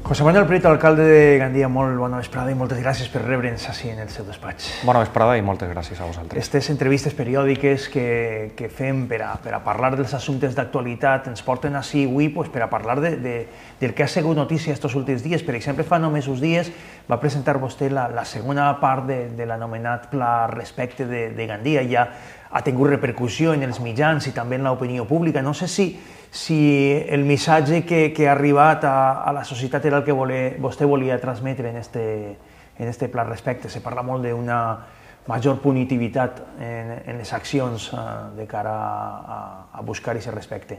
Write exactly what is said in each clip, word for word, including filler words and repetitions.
José Manuel Prieto, alcalde de Gandia, molt bona vesprada i moltes gràcies per rebre'ns així en el seu despatx. Bona vesprada i moltes gràcies a vosaltres. Aquestes entrevistes periòdiques que, que fem per a, per a parlar dels assumptes d'actualitat ens porten així avui pues, per a parlar de, de, del que ha sigut notícia estos últims dies. Per exemple, fa només uns dies va presentar vostè la, la segona part de, de l'anomenat Pla Respecte de, de Gandia. Ja ha tingut repercussió en els mitjans i també en l'opinió pública. No sé si si el missatge que, que ha arribat a, a la societat era el que vole, vostè volia transmetre en este, en este pla respecte. Se parla molt d'una major punitivitat en, en les accions uh, de cara a, a buscar aquest respecte.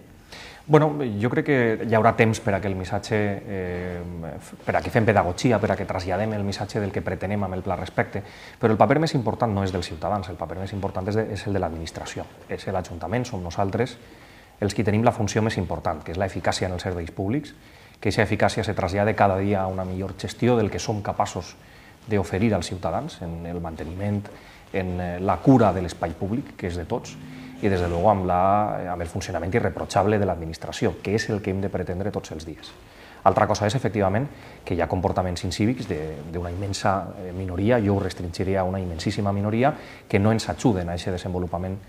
Bueno, jo crec que hi haurà temps per a que el missatge, eh, per a que fem pedagogia, per a que traslladem el missatge del que pretenem amb el pla respecte, però el paper més important no és dels ciutadans, el paper més important és, de, és el de l'administració, és l'Ajuntament, som nosaltres, els que tenim la funció més important, que és l'eficàcia en els serveis públics, que aquesta eficàcia se trasllada cada dia a una millor gestió del que som capaços d'oferir als ciutadans en el manteniment, en la cura de l'espai públic, que és de tots, i des de luego amb, la, amb el funcionament irreprotxable de l'administració, que és el que hem de pretendre tots els dies. Altra cosa és, efectivament, que hi ha comportaments incívics d'una immensa minoria, jo ho restringiré a una immensíssima minoria, que no ens ajuden a aquest desenvolupament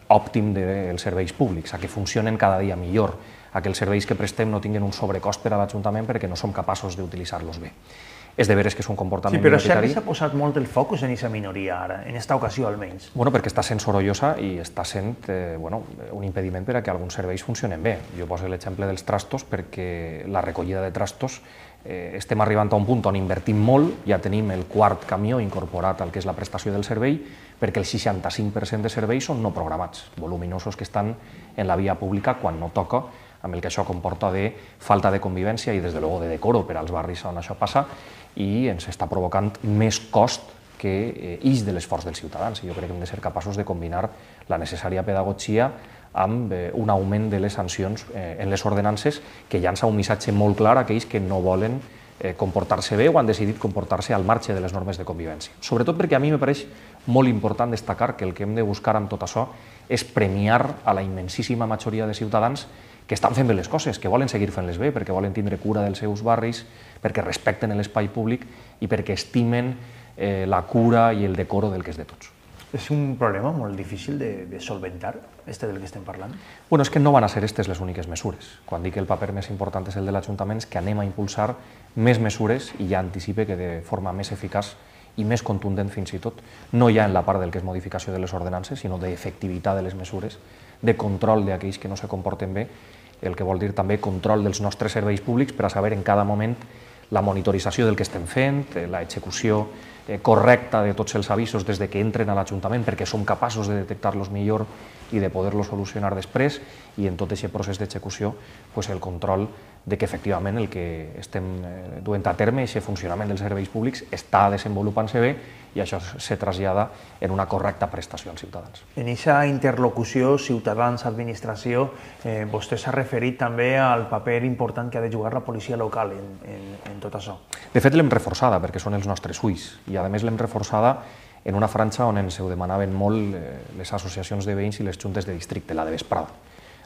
òptim dels serveis públics, a que funcionen cada dia millor, a que els serveis que prestem no tinguin un sobrecost per a l'Ajuntament perquè no som capaços d'utilitzar-los bé. És de veres que és un comportament minoritari. Sí, però sempre s'ha posat molt el focus en aquesta minoria ara, en aquesta ocasió almenys. Bueno, perquè està sent sorollosa i està sent eh, bueno, un impediment per a que alguns serveis funcionen bé. Jo poso l'exemple dels trastos perquè la recollida de trastos eh, estem arribant a un punt on invertim molt, ja tenim el quart camió incorporat al que és la prestació del servei, perquè el seixanta-cinc per cent de serveis són no programats, voluminosos que estan en la via pública quan no toca, amb el que això comporta de falta de convivència i, des de luego, de decoro per als barris on això passa, i ens està provocant més cost que ix de l'esforç dels ciutadans. Jo crec que hem de ser capaços de combinar la necessària pedagogia amb un augment de les sancions en les ordenances que llança un missatge molt clar a aquells que no volen comportar-se bé o han decidit comportar-se al marge de les normes de convivència. Sobretot perquè a mi me pareix molt important destacar que el que hem de buscar amb tot això és premiar a la immensíssima majoria de ciutadans que estan fent bé les coses, que volen seguir fent-les bé, perquè volen tindre cura dels seus barris, perquè respecten l'espai públic i perquè estimen eh, la cura i el decoro del que és de tots. És un problema molt difícil de, de solventar, este del que estem parlant? Bueno, és que no van a ser aquestes les úniques mesures. Quan dic que el paper més important és el de l'Ajuntament, és que anem a impulsar més mesures i ja anticipe que de forma més eficaç i més contundent fins i tot, no ja en la part del que és modificació de les ordenances, sinó d'efectivitat de les mesures, de control d'aquells que no se comporten bé, el que vol dir també control dels nostres serveis públics per a saber en cada moment la monitorització del que estem fent, l'execució correcta de tots els avisos des de que entren a l'Ajuntament perquè som capaços de detectar-los millor i de poder-los solucionar després, i en tot aquest procés d'execució el control de que efectivament el que estem duent a terme, aquest funcionament dels serveis públics, està desenvolupant-se bé i això se trasllada en una correcta prestació als ciutadans. En aquesta interlocució ciutadans-administració, eh, vostè s'ha referit també al paper important que ha de jugar la policia local en, en, en tot això. De fet, l'hem reforçada perquè són els nostres ulls i, a més, l'hem reforçada en una franja on ens ho demanaven molt les associacions de veïns i les juntes de districte, la de vesprada.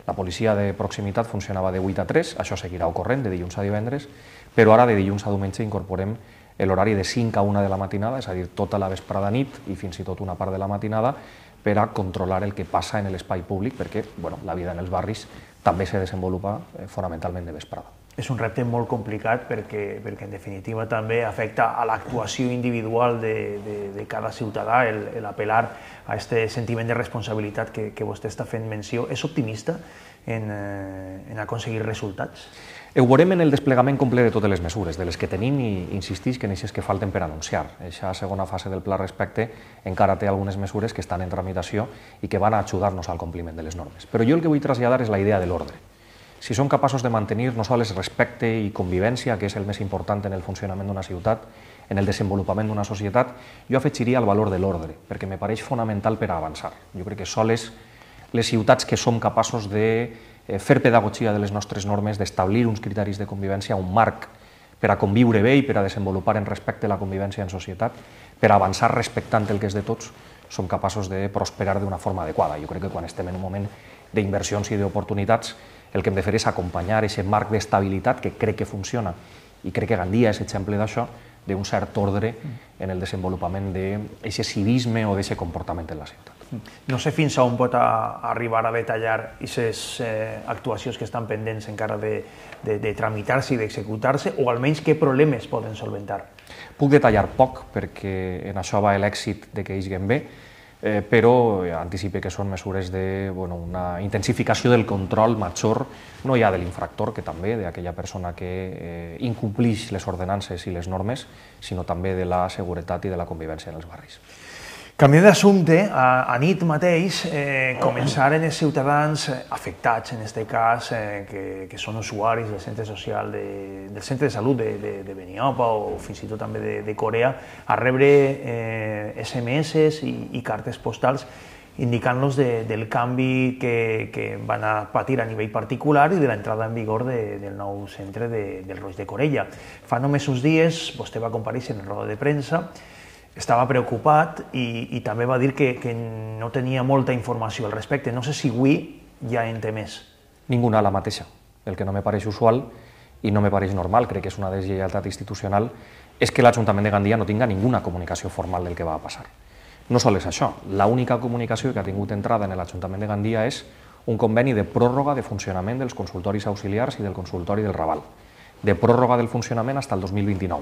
La policia de proximitat funcionava de vuit a tres, això seguirà ocorrent de dilluns a divendres, però ara de dilluns a diumenge incorporem l'horari de cinc a una de la matinada, és a dir, tota la vesprada nit i fins i tot una part de la matinada, per a controlar el que passa en l'espai públic, perquè bueno, la vida en els barris també se desenvolupa eh, fonamentalment de vesprada. És un repte molt complicat perquè, perquè en definitiva també afecta a l'actuació individual de, de, de cada ciutadà, el, el apel·lar a aquest sentiment de responsabilitat que, que vostè està fent menció. És optimista en, en aconseguir resultats? Ho veurem en el desplegament complet de totes les mesures, de les que tenim i insistix que n'eixes que falten per anunciar. Aquesta segona fase del pla respecte encara té algunes mesures que estan en tramitació i que van a ajudar-nos al compliment de les normes. Però jo el que vull traslladar és la idea de l'ordre. Si som capaços de mantenir no sols respecte i convivència, que és el més important en el funcionament d'una ciutat, en el desenvolupament d'una societat, jo afegiria el valor de l'ordre, perquè me pareix fonamental per a avançar. Jo crec que sols les ciutats que som capaços de fer pedagogia de les nostres normes, d'establir uns criteris de convivència, un marc per a conviure bé i per a desenvolupar en respecte la convivència en societat, per a avançar respectant el que és de tots, som capaços de prosperar d'una forma adequada. Jo crec que quan estem en un moment d'inversions i d'oportunitats, el que hem de fer és acompanyar aquest marc d'estabilitat que crec que funciona I crec que Gandia és exemple d'això, d'un cert ordre en el desenvolupament d'aquest civisme o d'aquest comportament en la ciutat. No sé fins a on pot arribar a detallar aquestes actuacions que estan pendents encara de tramitar-se i d'executar-se, o almenys què problemes poden solventar. Puc detallar poc, perquè en això va l'èxit de que ixguem bé, però anticipe que són mesures d'una intensificació del control major, no ja de l'infractor, que també, d'aquella persona que incomplix les ordenances i les normes, sinó també de la seguretat i de la convivència en els barris. Canviant d'assumpte, a nit mateix començaren els ciutadans afectats, en aquest cas, que són usuaris del centre social, del centre de salut de Beniopa o fins i tot també de Corea, a rebre esse eme esse i cartes postals indicant-los del canvi que van a patir a nivell particular i de l'entrada en vigor del nou centre del Roig de Corella. Fa només uns dies vostè va comparèixer en roda de premsa, estava preocupat i també va dir que no tenia molta informació al respecte. No sé si avui ja en té més. Ninguna, la mateixa. El que no me pareix usual i no me pareix normal, crec que és una deslleialtat institucional, és que l'Ajuntament de Gandia no tinga ninguna comunicació formal del que va passar. No sols això, l'única comunicació que ha tingut entrada en l'Ajuntament de Gandia és un conveni de pròrroga de funcionament dels consultoris auxiliars i del consultori del Raval, de pròrroga del funcionament fins al dos mil vint-i-nou.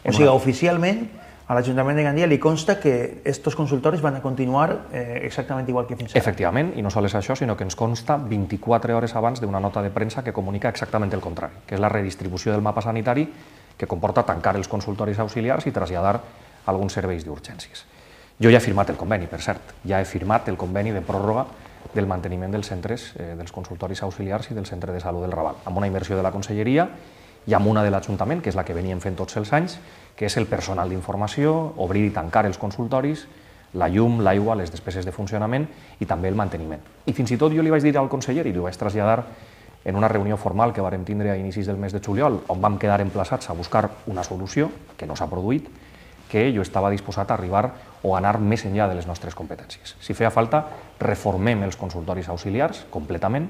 O sigui, oficialment, a l'Ajuntament de Gandia li consta que aquests consultoris van a continuar exactament igual que fins ara. Efectivament, i no sols això, sinó que ens consta vint-i-quatre hores abans d'una nota de premsa que comunica exactament el contrari, que és la redistribució del mapa sanitari que comporta tancar els consultoris auxiliars i traslladar alguns serveis d'urgències. Jo ja he firmat el conveni, per cert, ja he firmat el conveni de pròrroga del manteniment dels centres, dels consultoris auxiliars i del centre de salut del Raval, amb una inversió de la Conselleria i amb una de l'Ajuntament, que és la que veníem fent tots els anys, que és el personal d'informació, obrir i tancar els consultoris, la llum, l'aigua, les despeses de funcionament i també el manteniment. I fins i tot jo li vaig dir al conseller i li vaig traslladar en una reunió formal que vàrem tindre a inicis del mes de juliol, on vam quedar emplaçats a buscar una solució, que no s'ha produït, que jo estava disposat a arribar o a anar més enllà de les nostres competències. Si feia falta, reformem els consultoris auxiliars completament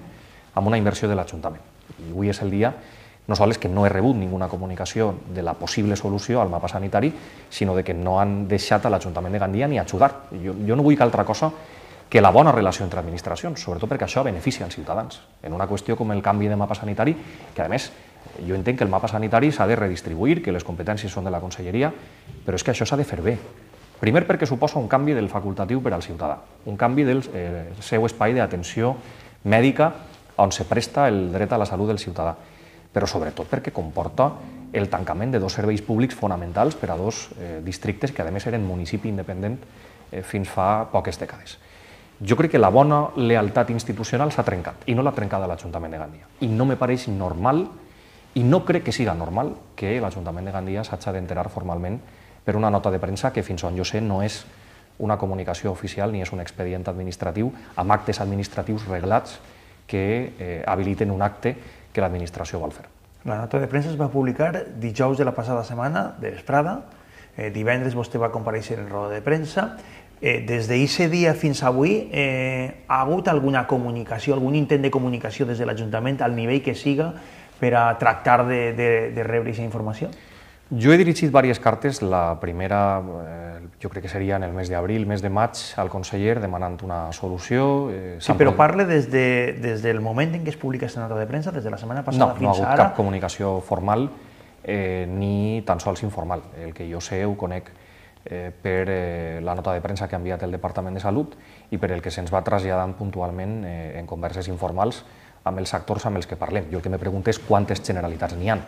amb una inversió de l'Ajuntament. I avui és el dia no sols que no he rebut ninguna comunicació de la possible solució al mapa sanitari, sinó de que no han deixat a l'Ajuntament de Gandia ni ajudar. Jo, jo no vull que altra cosa que la bona relació entre administracions, sobretot perquè això beneficia els ciutadans. En una qüestió com el canvi de mapa sanitari, que a més jo entenc que el mapa sanitari s'ha de redistribuir, que les competències són de la Conselleria, però és que això s'ha de fer bé. Primer perquè suposa un canvi del facultatiu per al ciutadà, un canvi del eh, seu espai d'atenció mèdica on se presta el dret a la salut del ciutadà, però sobretot perquè comporta el tancament de dos serveis públics fonamentals per a dos eh, districtes que a més eren municipi independent eh, fins fa poques dècades. Jo crec que la bona lealtat institucional s'ha trencat i no l'ha trencada l'Ajuntament de Gandia. I no me pareix normal i no crec que siga normal que l'Ajuntament de Gandia s'hagi d'enterar formalment per una nota de premsa que fins on jo sé no és una comunicació oficial ni és un expedient administratiu amb actes administratius reglats que eh, habiliten un acte que l'administració vol fer. La nota de premsa es va publicar dijous de la passada setmana, de vesprada. Eh, divendres vostè va comparèixer en roda de premsa. Eh, des d'aquest dia fins avui eh, ha hagut alguna comunicació, algun intent de comunicació des de l'Ajuntament al nivell que siga per a tractar de, de, de rebre aquesta informació? Jo he dirigit diverses cartes, la primera eh, jo crec que seria en el mes d'abril, mes de maig, al conseller demanant una solució. Eh, sí, però parle des, de, des del moment en què es publica aquesta nota de premsa, des de la setmana passada no, fins ara? No, no ha hagut cap comunicació formal eh, ni tan sols informal. El que jo sé ho conec eh, per eh, la nota de premsa que ha enviat el Departament de Salut i per el que se'ns va traslladant puntualment eh, en converses informals amb els actors amb els que parlem. Jo el que me pregunto és quantes generalitats n'hi ha.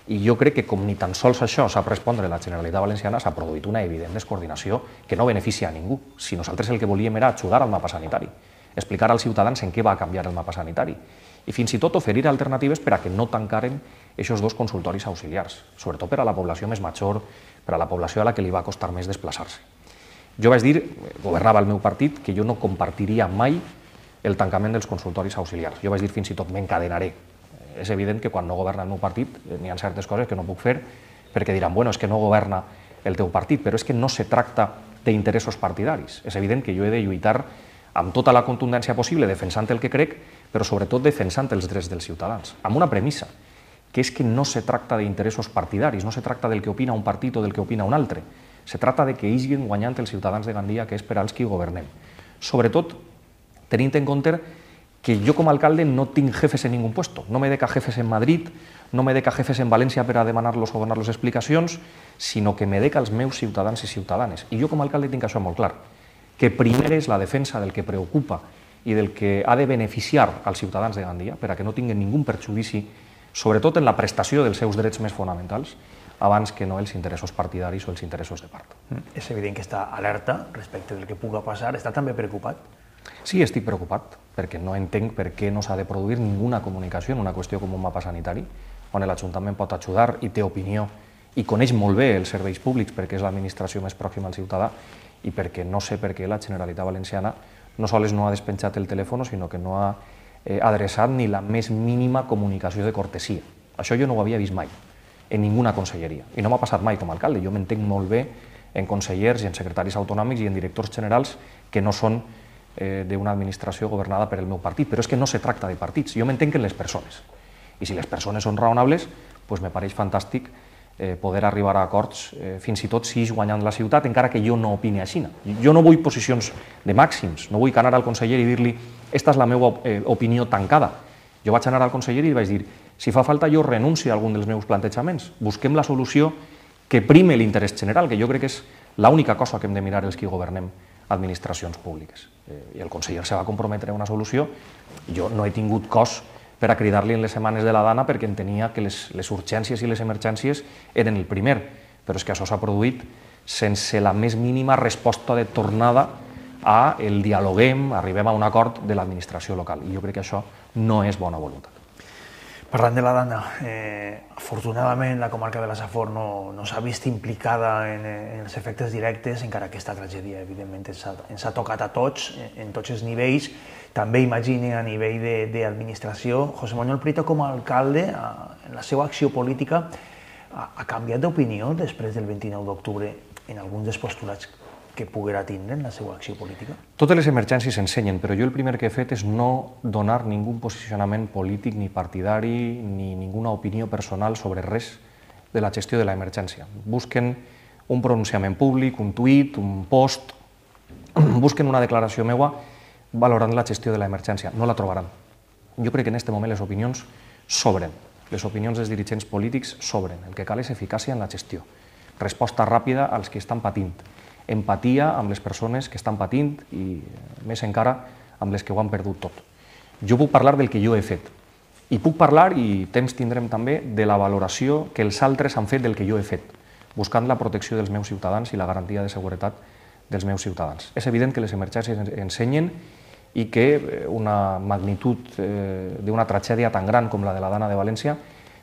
I jo crec que com ni tan sols això sap respondre la Generalitat Valenciana, s'ha produït una evident descoordinació que no beneficia a ningú. Si nosaltres el que volíem era ajudar al mapa sanitari, explicar als ciutadans en què va canviar el mapa sanitari i fins i tot oferir alternatives per a que no tancaren aquests dos consultoris auxiliars, sobretot per a la població més major, per a la població a la que li va costar més desplaçar-se. Jo vaig dir, governava el meu partit, que jo no compartiria mai el tancament dels consultoris auxiliars. Jo vaig dir fins i tot m'encadenaré. És evident que quan no governa el meu partit n'hi ha certes coses que no puc fer perquè diran, bueno, és que no governa el teu partit, però és que no se tracta d'interessos partidaris. És evident que jo he de lluitar amb tota la contundència possible defensant el que crec, però sobretot defensant els drets dels ciutadans, amb una premissa, que és que no se tracta d'interessos partidaris, no se tracta del que opina un partit o del que opina un altre, se tracta de que hagin guanyant els ciutadans de Gandia, que és per als qui governem. Sobretot, tenint en compte que jo com a alcalde no tinc jefes en ningú puesto, no me deca jefes en Madrid, no me deca jefes en València per a demanar-los o donar-los explicacions, sinó que me deca els meus ciutadans i ciutadanes. I jo com a alcalde tinc això molt clar, que primer és la defensa del que preocupa i del que ha de beneficiar als ciutadans de Gandia, per a que no tinguin ningú perjudici, sobretot en la prestació dels seus drets més fonamentals, abans que no els interessos partidaris o els interessos de part. És evident que està alerta respecte del que puga passar. Està també preocupat? Sí, estic preocupat, perquè no entenc per què no s'ha de produir ninguna comunicació en una qüestió com un mapa sanitari, on l'Ajuntament pot ajudar i té opinió i coneix molt bé els serveis públics perquè és l'administració més pròxima al ciutadà i perquè no sé per què la Generalitat Valenciana no sols no ha despenjat el telèfon, sinó que no ha eh, adreçat ni la més mínima comunicació de cortesia. Això jo no ho havia vist mai, en ninguna conselleria. I no m'ha passat mai com a alcalde. Jo m'entenc molt bé en consellers i en secretaris autonòmics i en directors generals que no són eh, d'una administració governada per el meu partit. Però és que no se tracta de partits, jo m'entenc en les persones. I si les persones són raonables, doncs me pareix fantàstic eh, poder arribar a acords, eh, fins i tot si és guanyant la ciutat, encara que jo no opini així. Jo no vull posicions de màxims, no vull anar al conseller i dir-li esta és la meva eh, opinió tancada. Jo vaig anar al conseller i li vaig dir si fa falta jo renuncio a algun dels meus plantejaments, busquem la solució que prime l'interès general, que jo crec que és l'única cosa que hem de mirar els que governem administracions públiques. Eh, I el conseller se va comprometre a una solució, jo no he tingut cos per a cridar-li en les setmanes de la Dana perquè entenia que les, les urgències i les emergències eren el primer, però és que això s'ha produït sense la més mínima resposta de tornada a el dialoguem, arribem a un acord de l'administració local, i jo crec que això no és bona voluntat. Parlant de la Dana, eh, afortunadament la comarca de la Safor no, no s'ha vist implicada en, en els efectes directes, encara que aquesta tragèdia evidentment ens ha, ens ha tocat a tots, en tots els nivells, també imagine a nivell d'administració. José Manuel Prieto com a alcalde, a, en la seva acció política, ha, ha canviat d'opinió després del vint-i-nou d'octubre en alguns dels postulats que poguera tindre en la seva acció política? Totes les emergències s'ensenyen, però jo el primer que he fet és no donar ningú posicionament polític ni partidari ni ninguna opinió personal sobre res de la gestió de l'emergència. Busquen un pronunciament públic, un tuit, un post, busquen una declaració meua valorant la gestió de l'emergència. No la trobaran. Jo crec que en aquest moment les opinions sobren, les opinions dels dirigents polítics sobren. El que cal és eficàcia en la gestió, resposta ràpida als que estan patint, empatia amb les persones que estan patint i, més encara, amb les que ho han perdut tot. Jo puc parlar del que jo he fet i puc parlar, i temps tindrem també, de la valoració que els altres han fet del que jo he fet, buscant la protecció dels meus ciutadans i la garantia de seguretat dels meus ciutadans. És evident que les emergències ensenyen i que una magnitud eh, d'una tragèdia tan gran com la de la Dana de València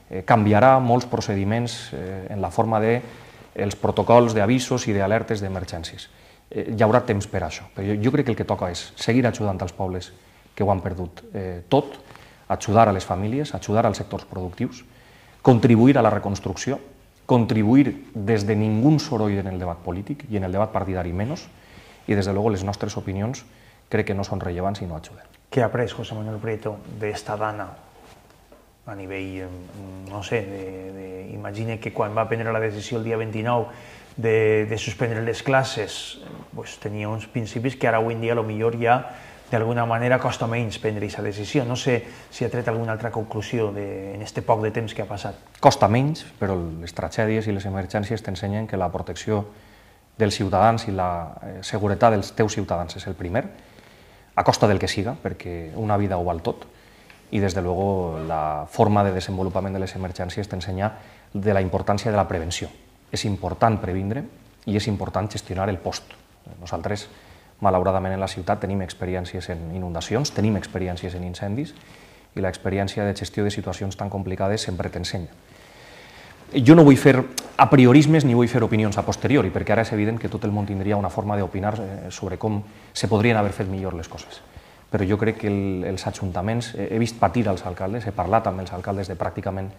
eh, canviarà molts procediments eh, en la forma de els protocols d'avisos i d'alertes d'emergències. Eh, hi haurà temps per a això, però jo, jo crec que el que toca és seguir ajudant als pobles que ho han perdut eh, tot, ajudar a les famílies, ajudar als sectors productius, contribuir a la reconstrucció, contribuir des de ningú soroll en el debat polític i en el debat partidari menys, i des de luego les nostres opinions crec que no són rellevants i no ajuden. Què ha après José Manuel Prieto d'esta Dana a nivell, no sé, de, de, imagine que quan va prendre la decisió el dia vint-i-nou de, de suspendre les classes, pues, tenia uns principis que ara avui en dia potser ja d'alguna manera costa menys prendre aquesta decisió. No sé si ha tret alguna altra conclusió de, en este poc de temps que ha passat. Costa menys, però les tragèdies i les emergències t'ensenyen que la protecció dels ciutadans i la seguretat dels teus ciutadans és el primer, a costa del que siga, perquè una vida ho val tot, i des de luego la forma de desenvolupament de les emergències t'ensenya de la importància de la prevenció. És important previndre i és important gestionar el post. Nosaltres, malauradament, en la ciutat tenim experiències en inundacions, tenim experiències en incendis i l'experiència de gestió de situacions tan complicades sempre t'ensenya. Jo no vull fer a priorismes ni vull fer opinions a posteriori, perquè ara és evident que tot el món tindria una forma d'opinar sobre com se podrien haver fet millor les coses. Però jo crec que el, els ajuntaments, he vist patir als alcaldes, he parlat amb els alcaldes de pràcticament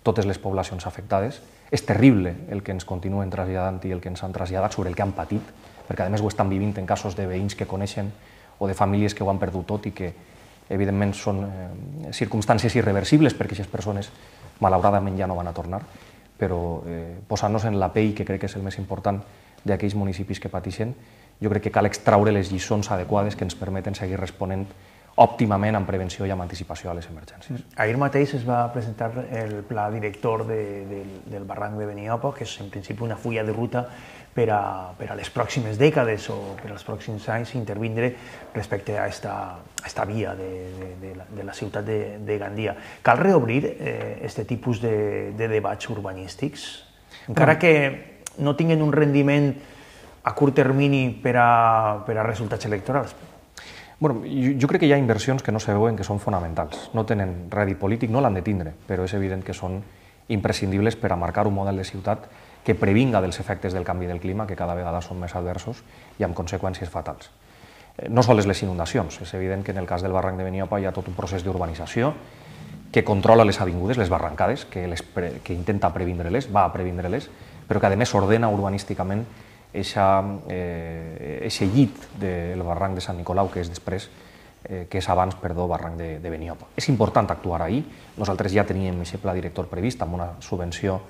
totes les poblacions afectades. És terrible el que ens continuen traslladant i el que ens han traslladat sobre el que han patit, perquè a més ho estan vivint en casos de veïns que coneixen o de famílies que ho han perdut tot i que, evidentment són eh, circumstàncies irreversibles perquè aquestes persones malauradament ja no van a tornar, però eh, posant-nos en la pell, que crec que és el més important d'aquells municipis que pateixen, jo crec que cal extraure les lliçons adequades que ens permeten seguir responent òptimament amb prevenció i amb anticipació a les emergències. Ahir mateix es va presentar el pla director de, de, del barranc de Beniopa, que és en principi una fulla de ruta per a, per a les pròximes dècades o per als pròxims anys intervindre respecte a esta, a esta via de, de, de, la, de la ciutat de, de Gandia. Cal reobrir eh, este tipus de, de debats urbanístics? Encara que no tinguin un rendiment a curt termini per a, per a resultats electorals. Bueno, jo, jo crec que hi ha inversions que no se veuen que són fonamentals. No tenen rèdit polític, no l'han de tindre, però és evident que són imprescindibles per a marcar un model de ciutat que previnga dels efectes del canvi del clima, que cada vegada són més adversos i amb conseqüències fatals. No sols les inundacions, és evident que en el cas del barranc de Beniopa hi ha tot un procés d'urbanització que controla les avingudes, les barrancades, que, les pre, que intenta previndre-les, va a previndre-les, però que a més ordena urbanísticament aquest eh, llit del barranc de Sant Nicolau, que és després, eh, que és abans, perdó, barranc de, de Beniopa. És important actuar ahir. Nosaltres ja teníem aquest pla director previst amb una subvenció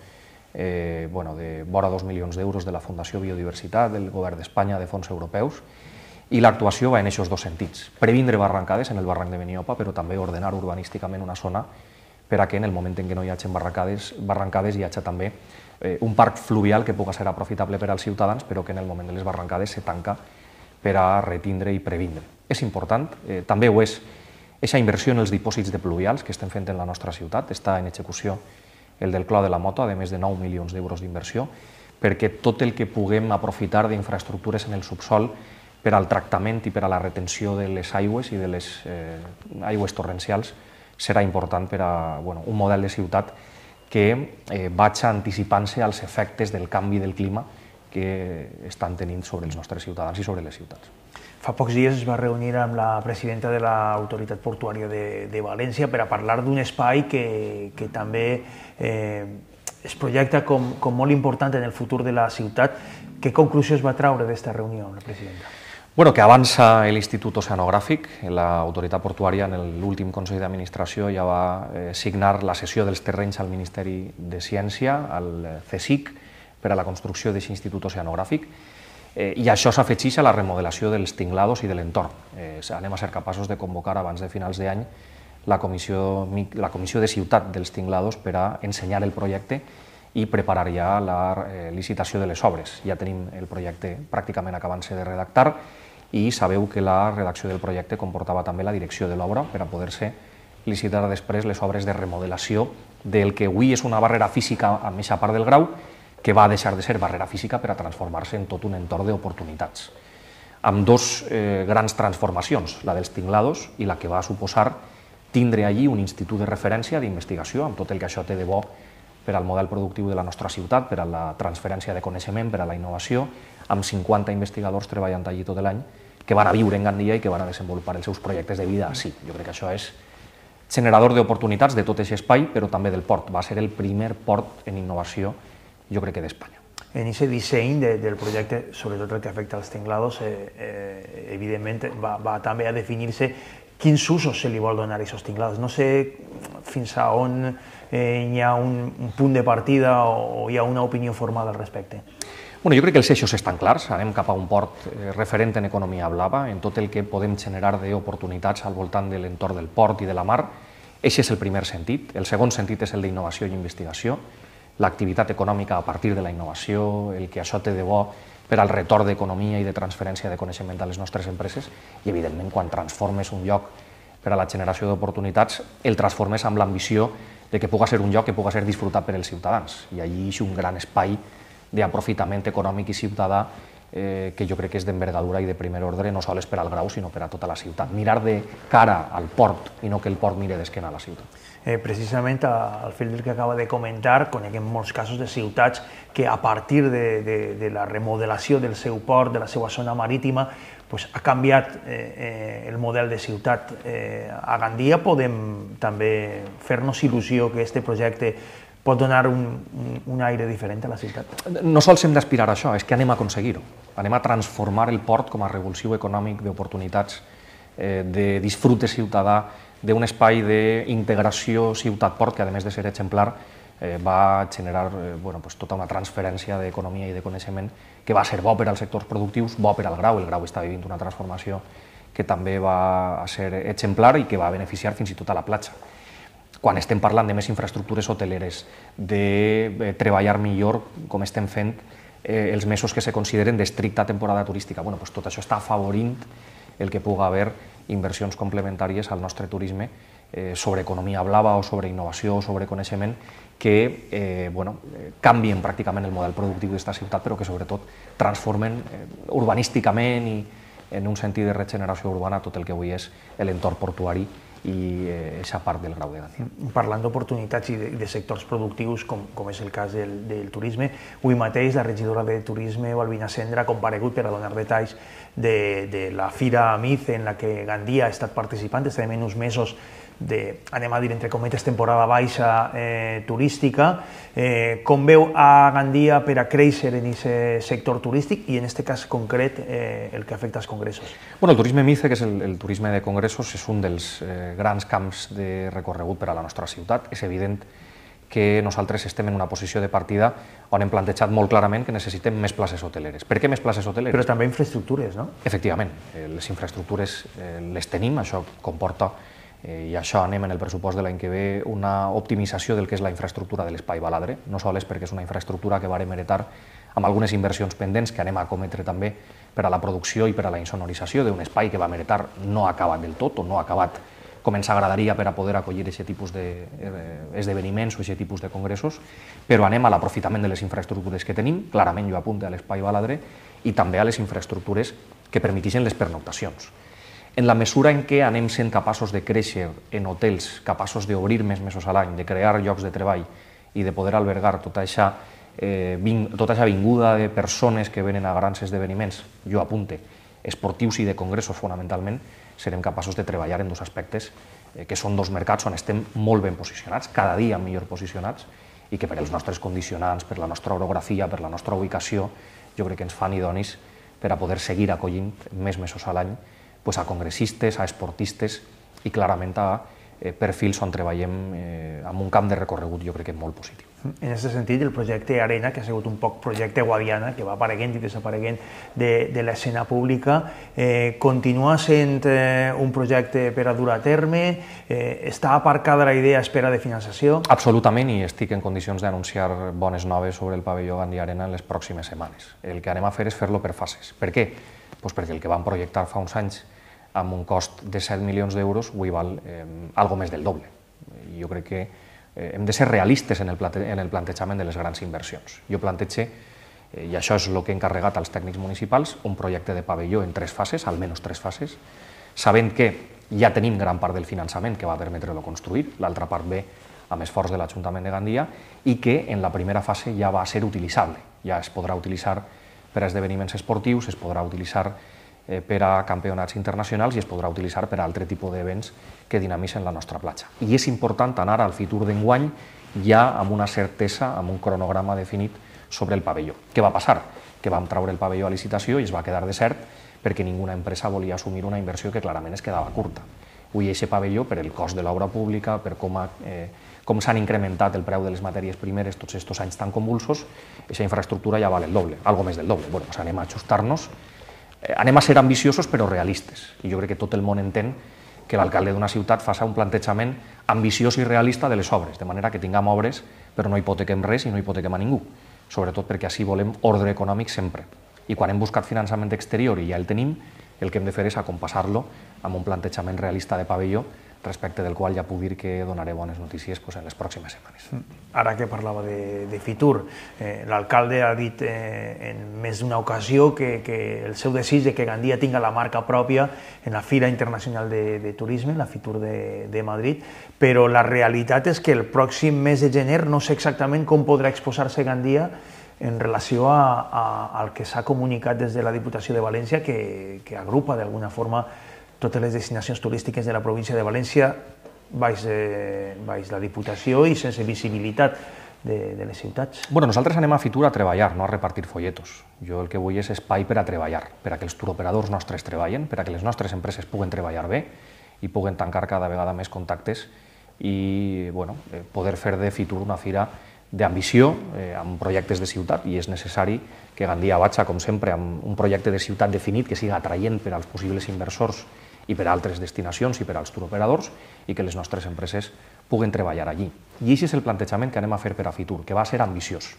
eh, bueno, de vora dos milions d'euros de la Fundació Biodiversitat, del Govern d'Espanya, de fons europeus, i l'actuació va en aquests dos sentits. Previndre barrancades en el barranc de Beniopa, però també ordenar urbanísticament una zona per a que en el moment en què no hi hagi barrancades, barrancades hi hagi també eh, un parc fluvial que pugui ser aprofitable per als ciutadans, però que en el moment de les barrancades se tanca per a retindre i previndre. És important, eh, també ho és, aquesta inversió en els dipòsits de pluvials que estem fent en la nostra ciutat, està en execució el del Clot de la Mota, de més de nou milions d'euros d'inversió, perquè tot el que puguem aprofitar d'infraestructures en el subsol per al tractament i per a la retenció de les aigües i de les eh, aigües torrencials serà important per a bueno, un model de ciutat que eh, vagi anticipant-se als efectes del canvi del clima que estan tenint sobre els nostres ciutadans i sobre les ciutats. Fa pocs dies es va reunir amb la presidenta de l'Autoritat Portuària de, de València per a parlar d'un espai que, que també eh, es projecta com, com molt important en el futur de la ciutat. Què conclusió es va traure d'aquesta reunió amb la presidenta? Bueno, que avança l'Institut Oceanogràfic. L'autoritat portuària en l'últim Consell d'Administració ja va eh, signar la cessió dels terrenys al Ministeri de Ciència, al CSIC, per a la construcció d'aquest Institut Oceanogràfic. Eh, I això s'afegeix a la remodelació dels tinglados i de l'entorn. Eh, anem a ser capaços de convocar abans de finals d'any la comissió, la comissió de ciutat dels tinglados per a ensenyar el projecte i preparar ja la eh, licitació de les obres. Ja tenim el projecte pràcticament acabant-se de redactar i sabeu que la redacció del projecte comportava també la direcció de l'obra per a poder-se licitar després les obres de remodelació del que avui és una barrera física a aquesta part del Grau, que va deixar de ser barrera física per a transformar-se en tot un entorn d'oportunitats. Amb dos eh, grans transformacions, la dels tinglados i la que va suposar tindre allí un institut de referència d'investigació, amb tot el que això té de bo per al model productiu de la nostra ciutat, per a la transferència de coneixement, per a la innovació, amb cinquanta investigadors treballant allí tot l'any, que van a viure en Gandia i que van a desenvolupar els seus projectes de vida així. Jo crec que això és generador d'oportunitats de tot aquest espai, però també del port. Va ser el primer port en innovació, jo crec que d'Espanya. En aquest disseny de, del projecte, sobretot el que afecta als tinglados, eh, eh, evidentment va, va també a definir-se quins usos se li vol donar a aquests tinglados. No sé fins a on eh, hi ha un, un punt de partida o hi ha una opinió formada al respecte. Bueno, jo crec que els eixos estan clars, anem cap a un port referent en economia blava, en tot el que podem generar d'oportunitats al voltant de l'entorn del port i de la mar. Aquest és el primer sentit. El segon sentit és el d'innovació i investigació, l'activitat econòmica a partir de la innovació, el que això té de bo per al retorn d'economia i de transferència de coneixement a les nostres empreses i, evidentment, quan transformes un lloc per a la generació d'oportunitats, el transformes amb l'ambició de que puga ser un lloc que puga ser disfrutat per als ciutadans. I allí és un gran espai d'aprofitament econòmic i ciutadà eh, que jo crec que és d'envergadura i de primer ordre, no sols per al Grau, sinó per a tota la ciutat. Mirar de cara al port i no que el port mire d'esquena a la ciutat. Eh, precisament al fil del que acaba de comentar, coneguem molts casos de ciutats que a partir de, de, de la remodelació del seu port, de la seva zona marítima, pues, ha canviat eh, eh, el model de ciutat. Eh, a Gandia podem també fer-nos il·lusió que aquest projecte pot donar un, un, un aire diferent a la ciutat? No sols hem d'aspirar a això, és que anem a aconseguir-ho. Anem a transformar el port com a revulsiu econòmic d'oportunitats de disfrute ciutadà, d'un espai d'integració ciutat-port que, a més de ser exemplar, va generar tota una transferència d'economia i de coneixement que va ser bo per als sectors productius, bo per al Grau. El Grau està vivint una transformació que també va ser exemplar i que va beneficiar fins i tot a la platja. Quan estem parlant de més infraestructures hoteleres, de treballar millor, com estem fent els mesos que se consideren d'estricta temporada turística, tot això està afavorint el que pugui haver inversions complementàries al nostre turisme sobre economia blava o sobre innovació o sobre coneixement que canvien pràcticament el model productiu d'aquesta ciutat, però que sobretot transformen urbanísticament i en un sentit de regeneració urbana tot el que avui és l'entorn portuari i aquesta part del Grau de Gandia. Parlant d'oportunitats i de sectors productius, com és el cas del turisme, avui mateix la regidora de Turisme, Balbina Cendra, ha comparegut per a donar detalls de la Fira Mice en la que Gandia ha estat participant. Estem en uns mesos de, anem a dir, entre cometes, temporada baixa turística. Com veu a Gandia per a créixer en aquest sector turístic i, en aquest cas concret, el que afecta als congressos? El turisme Mice, que és el turisme de congressos, és un dels grans camps de recorregut per a la nostra ciutat. És evident que nosaltres estem en una posició de partida on hem plantejat molt clarament que necessitem més places hoteleres. Per què més places hoteleres? Però també infraestructures, no? Efectivament, les infraestructures les tenim, això comporta, i això anem en el pressupost de l'any que ve, una optimització del que és la infraestructura de l'Espai Baladre, no sols perquè és una infraestructura que vàrem heretar amb algunes inversions pendents que anem a cometre també per a la producció i per a la insonorització d'un espai que vam heretar no acabat del tot o no acabat com ens agradaria per a poder acollir aquest tipus d'esdeveniments o aquest tipus de congressos, però anem a l'aprofitament de les infraestructures que tenim, clarament jo apunte a l'Espai Baladre, i també a les infraestructures que permetixen les pernoctacions. En la mesura en què anem sent capaços de créixer en hotels, capaços d'obrir més mesos a l'any, de crear llocs de treball i de poder albergar tota aquesta vinguda de persones que venen a grans esdeveniments, jo apunte, esportius i de congressos fonamentalment, serem capaços de treballar en dos aspectes que són dos mercats on estem molt ben posicionats, cada dia millor posicionats, i que per als nostres condicionants, per la nostra orografia, per la nostra ubicació, jo crec que ens fan idonis per a poder seguir acollint més mesos a l'any a congressistes, a esportistes i clarament a perfils on treballem amb un camp de recorregut jo crec que molt positiu. En aquest sentit, el projecte Arena, que ha sigut un poc projecte Guadiana, que va apareguent i desapareguent de l'escena pública, continua sent un projecte per a dur a terme? Està aparcada la idea a espera de finançació? Absolutament, i estic en condicions d'anunciar bones noves sobre el pavelló Gandia Arena en les pròximes setmanes. El que anem a fer és fer-lo per fases. Per què? Perquè el que vam projectar fa uns anys amb un cost de set milions d'euros avui val algo més del doble. Jo crec que hem de ser realistes en el plantejament de les grans inversions. Jo plantege, i això és el que he encarregat als tècnics municipals, un projecte de pavelló en tres fases, almenys tres fases, sabent que ja tenim gran part del finançament que va permetre-lo construir, l'altra part ve amb esforç de l'Ajuntament de Gandia, i que en la primera fase ja va ser utilitzable. Ja es podrà utilitzar per a esdeveniments esportius, es podrà utilitzar per a campionats internacionals i es podrà utilitzar per a altre tipus d'events que dinamitzen la nostra platja. I és important anar al futur d'enguany ja amb una certesa, amb un cronograma definit sobre el pavelló. Què va passar? Que vam treure el pavelló a licitació i es va quedar desert perquè ninguna empresa volia assumir una inversió que clarament es quedava curta. Avui aquest pavelló, per el cost de l'obra pública, per com s'han incrementat el preu de les matèries primeres tots aquests anys tan convulsos, aquesta infraestructura ja val el doble, algo més del doble. Bueno, anem a ajustar-nos, anem a ser ambiciosos però realistes. I jo crec que tot el món entén que l'alcalde d'una ciutat faci un plantejament ambiciós i realista de les obres, de manera que tinguem obres però no hipotequem res i no hipotequem a ningú, sobretot perquè així volem ordre econòmic sempre. I quan hem buscat finançament exterior i ja el tenim, el que hem de fer és acompassar-lo amb un plantejament realista de pavelló, respecte del qual ja puc dir que donaré bones notícies en les pròximes setmanes. Ara que parlava de Fitur, l'alcalde ha dit en més d'una ocasió que el seu desig de que Gandia tinga la marca pròpia en la Fira Internacional de Turisme, la Fitur de Madrid, però la realitat és que el pròxim mes de gener no sé exactament com podrà exposar-se Gandia en relació al que s'ha comunicat des de la Diputació de València, que agrupa d'alguna forma totes les destinacions turístiques de la província de València baix la Diputació i sense visibilitat de, de les ciutats. Bueno, nosaltres anem a Fitur a treballar, no a repartir folletos. Jo el que vull és espai per a treballar, per a que els turoperadors nostres treballen, per a que les nostres empreses puguen treballar bé i puguen tancar cada vegada més contactes i bueno, poder fer de Fitur una fira d'ambició, eh, amb projectes de ciutat, i és necessari que Gandia vaja, com sempre, amb un projecte de ciutat definit que siga atraient per als possibles inversors i per a altres destinacions i per als turoperadors i que les nostres empreses puguen treballar allí. I aquest és el plantejament que anem a fer per a Fitur, que va ser ambiciós.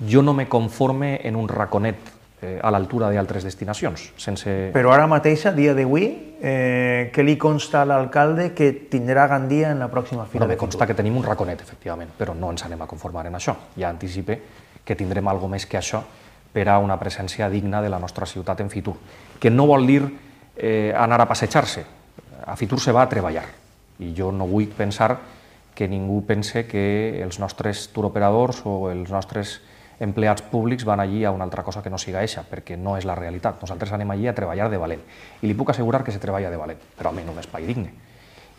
Jo no me conforme en un raconet eh, a l'altura d'altres destinacions, sense... Però ara mateix, a dia d'avui, eh, què li consta a l'alcalde que tindrà Gandia en la pròxima fira? No, me consta que tenim un raconet, efectivament, però no ens anem a conformar en això. Ja anticipe que tindrem alguna més que això per a una presència digna de la nostra ciutat en Fitur, que no vol dir eh, anar a passejar-se. A Fitur se va a treballar, i jo no vull pensar que ningú pense que els nostres turoperadors o els nostres empleats públics van allí a una altra cosa que no siga eixa, perquè no és la realitat. Nosaltres anem allí a treballar de valent. I li puc assegurar que se treballa de valent, però almenys un espai digne.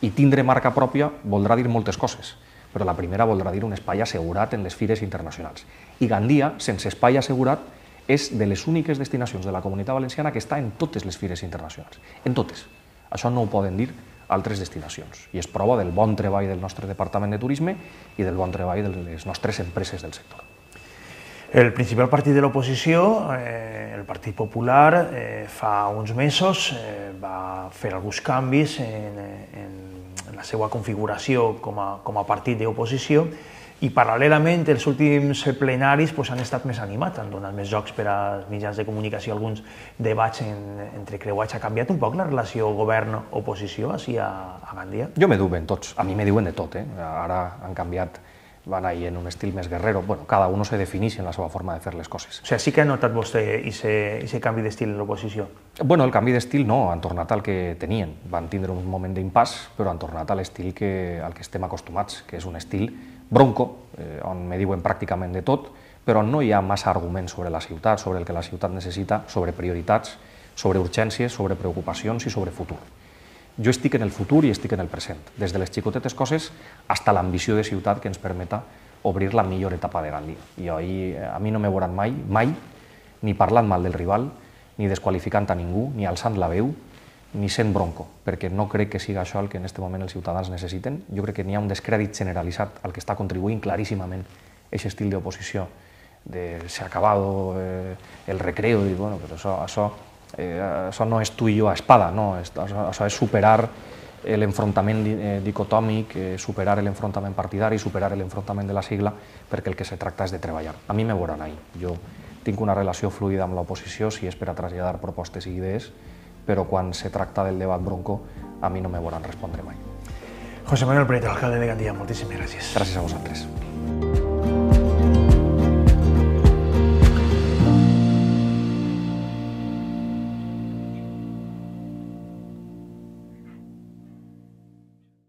I tindre marca pròpia voldrà dir moltes coses, però la primera voldrà dir un espai assegurat en les fires internacionals. I Gandia, sense espai assegurat, és de les úniques destinacions de la Comunitat Valenciana que està en totes les fires internacionals. En totes. Això no ho poden dir altres destinacions. I és prova del bon treball del nostre Departament de Turisme i del bon treball de les nostres empreses del sector. El principal partit de l'oposició, eh, el Partit Popular, eh, fa uns mesos eh, va fer alguns canvis en, en, en la seva configuració com a, com a partit d'oposició i paral·lelament els últims plenaris pues, han estat més animats, han donat més jocs per als mitjans de comunicació, alguns debats en, entre creuats. Ha canviat un poc la relació govern-oposició així a, a Gandia? Jo me duen tots, a mi me diuen de tot, eh? Ara han canviat, van ahir en un estil més guerrero. Bueno, cada uno se defineix en la seva forma de fer les coses. O sigui, sí que ha notat vostè aquest canvi d'estil en l'oposició? Bueno, el canvi d'estil no, han tornat al que tenien. Van tindre un moment d'impàs, però han tornat a l'estil que, al que estem acostumats, que és un estil bronco, eh, on me diuen pràcticament de tot, però no hi ha massa arguments sobre la ciutat, sobre el que la ciutat necessita, sobre prioritats, sobre urgències, sobre preocupacions i sobre futur. Jo estic en el futur i estic en el present, des de les xicotetes coses fins a l'ambició de ciutat que ens permeta obrir la millor etapa de Gandia. I ahir, a mi no me veuran mai, mai, ni parlant mal del rival, ni desqualificant a ningú, ni alçant la veu, ni sent bronco, perquè no crec que siga això el que en aquest moment els ciutadans necessiten. Jo crec que n'hi ha un descrèdit generalitzat al que està contribuint claríssimament aquest estil d'oposició, de s'ha acabado eh, el recreo, i bueno, però això, això, eh, això no és tu i jo a espada, no, això, això és superar l'enfrontament dicotòmic, eh, superar l'enfrontament partidari, superar l'enfrontament de la sigla, perquè el que se tracta és de treballar. A mi me veuran ahí. Jo tinc una relació fluida amb l'oposició, si és per a traslladar propostes i idees, però quan se tracta del debat bronco, a mi no me veuran respondre mai. José Manuel Prieto, alcalde de Gandia, moltíssimes gràcies. Gràcies a vosaltres.